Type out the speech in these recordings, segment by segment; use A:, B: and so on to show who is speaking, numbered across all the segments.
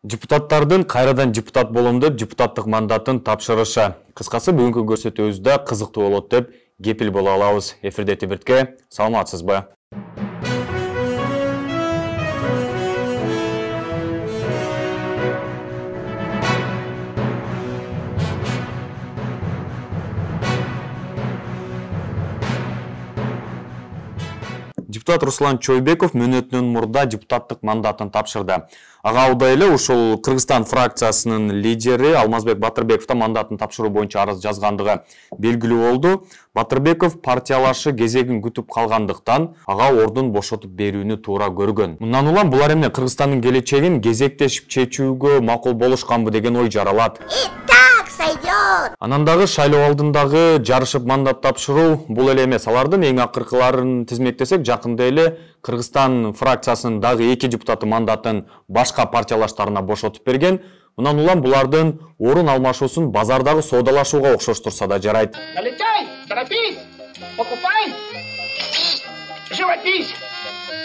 A: Депутаттардын кайрадан депутат болом деп депутаттык мандатын тапшырышы. Кыскасы бүгүнкү көрсөтүүбүздө кызыктуу болот деп кепил боло алабыз. Эфирде Тибиртке, саламатсызбы? Депутат Руслан Чойбеков мөөнөтүнөн мурда депутаттык мандатын тапшырды. Ага алда эле ушул Кыргызстан фракциясынын лидери Алмазбек Батырбеков да мандатын тапшыруу боюнча арыз жазгандыгы белгилүү болду. Батырбеков партиялашы кезегин күтүп калгандыктан ага ордун бошотуп берүүнү туура көргөн. Мындан улам булар эмне Кыргызстандын келечегин кезектешип чечүүгө макул болушканбы деген ой жаралат. Анан дагы шайлоо алдындагы жарышып мандат тапшыруу бул эле эмес. Алардын эң акыркыларын тизмектесек, жакында эле Кыргызстан фракциясынын дагы 2 депутаты мандатын башка партиялаштарына бошотуп берген. Мындан улам булардын орун алмашуусун базардагы соодалашууга окшоштурса да жарайт.
B: Налетай, торопись, покупай, живопись.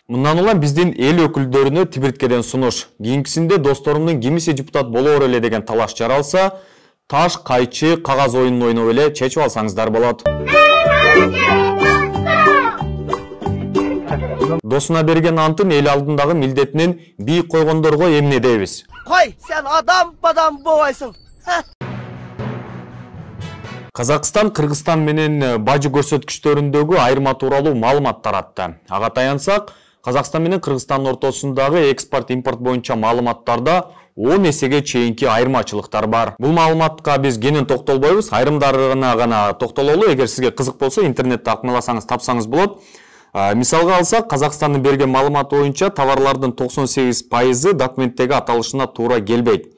A: Мындан улам биздин эл өкүлдөрүнө Тибирткеден сунуш. Кийинкисинде досторумдун кимиси депутат болоор эле деген талаш жаралса, таш, кайчы, кагаз оюнун ойноп эле чечип алсаңыздар болот. Досуна берген антын эл алдындагы милдетинен бийик койгондорго эмне дейбиз?
C: Кой, сен адам болбойсуң.
A: Казакстан Кыргызстан менен бажы көрсөткүчтөрүндөгү айырма тууралуу маалымат таратты. Ага таянсак, Казакстан менен Кыргызстандын ортосундагы экспорт-импорт боюнча маалыматтарда 10 эсеге чейинки айырмачылыктар бар. Бул маалыматка биз кенен токтолбойбуз, айрымдарына гана токтололу. Эгер сизге кызык болсо, интернетте акмаласаңыз тапсаңыз болот. Мисалга алсак, Казакстандын берген маалыматы боюнча товарлардын 98% документтеги аталышына туура келбейт.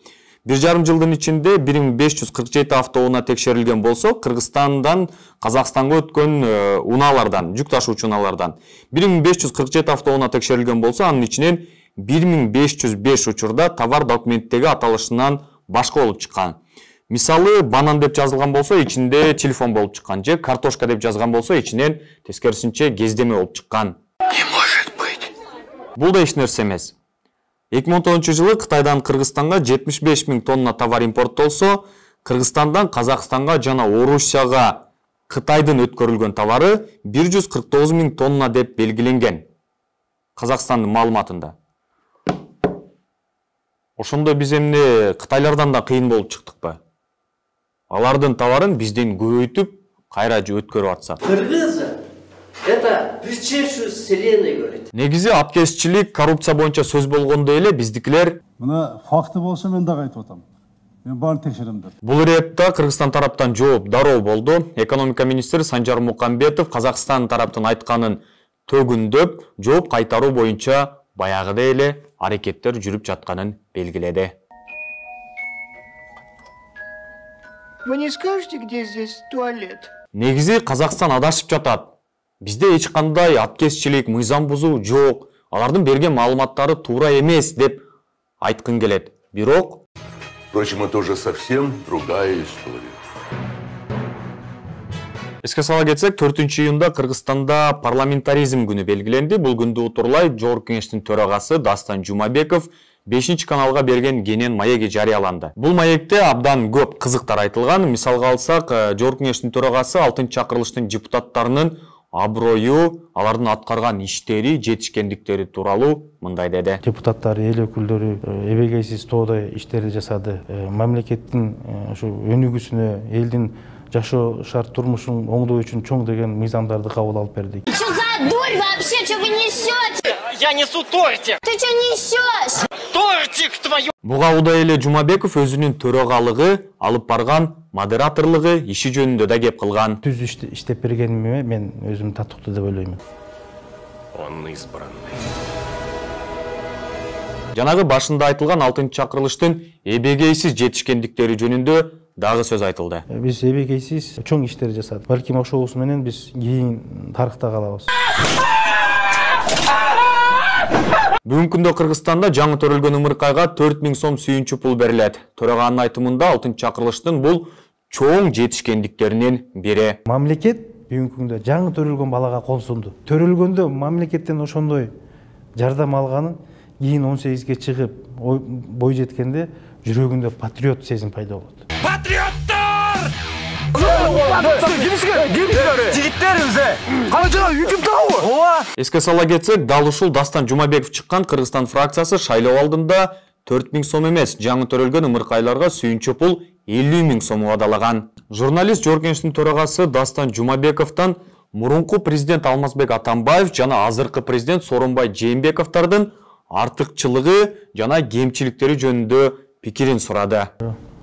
A: 1,5 жылдын ичинде 1547 автоунаа текшерилген болсо, Кыргызстандан Казакстанга өткөн унаалардан, жүк ташуучу унаалардан 1547 автоунаа текшерилген болсо, анын ичинен 1505 учурда товар документтеги аталышынан башка болуп чыккан. Мисалы, банан деп жазылган болсо, ичинде телефон болуп чыккан, же картошка деп жазган болсо, ичинен тескерисинче кездеме болуп чыккан.
B: Не может быть.
A: Бул да эч нерсе эмес. 2010-жылы Кытайдан Кыргызстанга 75 000 тонна товар импорттолсо, Кыргызстандан Казакстанга жана Орусияга Кытайдын өткөрүлгөн товары 149 000 тонна деп белгиленген. Казакстандын маалыматында. Ошондо биз эмне Кытайлардан да кыйын болуп чыктыкпы? Алардын товарын бизден көбөйтүп, кайра өткөрүп атсак.
D: Кыргызы это причешую вселенной говорит.
A: Негизи апкесчилик, коррупция боюнча сөз болгондо эле биздикилер
E: мына факты болсо мен дагы айтып атам. Мен баарын текшерем деп.
A: Бул иретте Кыргызстан тараптан жооп дароо болду. Экономика министри Санжар Мукамбетов Казакстан тараптын айтканын төгүндөп, жооп кайтаруу боюнча баягыдай эле аракеттер жүрүп жатканын белгиледи.
B: Вы не скажете, где здесь туалет?
A: Негизи Казакстан адашып жатат. Бизде эч кандай апкесчилик, мыйзам бузуу жок. Алардын берген маалыматтары туура эмес деп айткын келет. Бирок,
F: впрочем, это уже совсем другая история.
A: Эске сала кетсек, 4-июнда Кыргызстанда парламентаризм күнү белгиленди. Бул күндү утурлай Жогорку Кеңештин төрагасы Дастан Жумабеков 5-каналга берген кенен маеги жарыяланды. Бул маекте абдан көп кызыктар айтылган. Мисалга алсак, Жогорку Кеңештин төрагасы 6-чакырылыштын депутаттарынын аброю, алардын аткарган иштери, жетишкендиктери тууралуу мындай деди.
G: Депутаттар, эл өкүлдөрү эбегейсиз тоодой иштерди жасады. Мамлекеттин ушу өнүгүүсүнө, элдин жашоо шарт турмушун оңдоо үчүн чоң деген мыйзамдарды кабыл алып бердик.
H: Что за дурь вообще? Что вы несете?
B: Я несу тортик.
H: Ты что несешь?
B: Тортик твою.
A: Буга удай эле Жумабеков өзүнүн төрагалыгы, алып барган модераторлугу иши жөнүндө да кеп кылган.
G: Түз иштеп бергениме мен өзүм татыктуу деп ойлойм.
F: Он избранный.
A: Жанагы башында айтылган 6-чакырылыштын эбегейсиз жетишкендиктери жөнүндө дагы сөз айтылды.
G: Биз эбегейсиз чоң иштер жасадык. Балким ошоусу менен биз кийин тарыхта калабыз.
A: Бүгүнкү күндө Кыргызстанда жаңы төрөлгөн ымыркайга 4000 сом сүйүнчү пул берилет. Төраганын айтымында 6-чакырылыштын бул чоң жетишкендиктеринин бири.
G: Мамлекет бүгүнкү күндө жаңы төрөлгөн балага кол сунду. Төрөлгөндө мамлекеттен ошондой жардам алганын кийин 18ге чыгып бой жеткенде жүрөгүндө патриот сезим пайда болот.
A: Эске сала кетсек, дал ушул Дастан Жумабеков чыккан Кыргызстан фракциясы шайлоо алдында 4000 сом эмес, жаңы төрөлгөн ымыркайларга сүйүнчө пул 50 000 сом кадалаган. Журналист Жоркенчтин төрагасы Дастан Жумабековдон мурунку президент Алмазбек Атамбаев жана азыркы президент Сооронбай Жээнбековдун артыкчылыгы жана кемчиликтери жөнүндө пикирин сурады.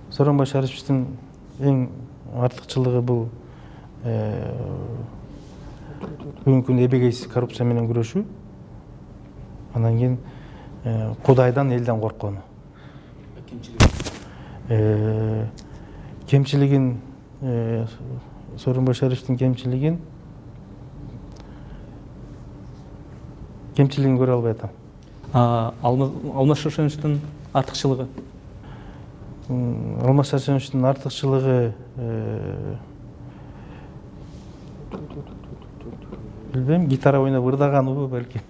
G: Сооронбай Шариповичтин эң артыкчылыгы бул бүгүнкү күндө эбегейсиз коррупция менен күрөшүү, анан кийин Кудайдан, элден корккону. Кемчилигин, Сооронбай Шариповичтин кемчилигин көрө албай атам.
I: Алмаз Шаршеновичтин артыкчылыгы?
G: Алмаз Шаршеновичтин артыкчылыгы билбейм, гитара ойноп ырдаганыбы балким.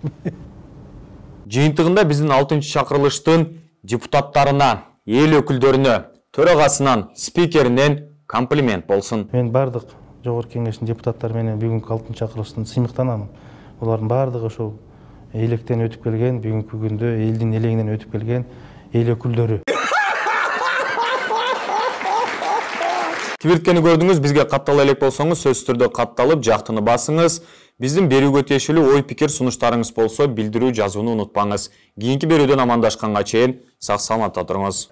A: Жыйынтыгында биздин 6-чакырылыштын депутаттарына, эл өкүлдөрүнө, төрагасынан, спикеринен комплимент болсун.
G: Мен бардык жогорку кеңештин депутаттары менен бүгүнкү 6-чакырылыштан сыймыктанам. Булардын бардыгы ошол электен өтүп келген, бүгүнкү күндө элдин элегинен өтүп келген эл өкүлдөрү.
A: Кибирткени көрдүңүз, бизге каттала элек болсоңуз, сөзсүз түрдө катталып, жактыны басыңыз. Биздин берүүгө тиешелүү ой пикир сунуштарыңыз болсо, билдирүү жазууну унутпаңыз. Кийинки берүүдөн амандашканга чейин сак саламатта туруңуз.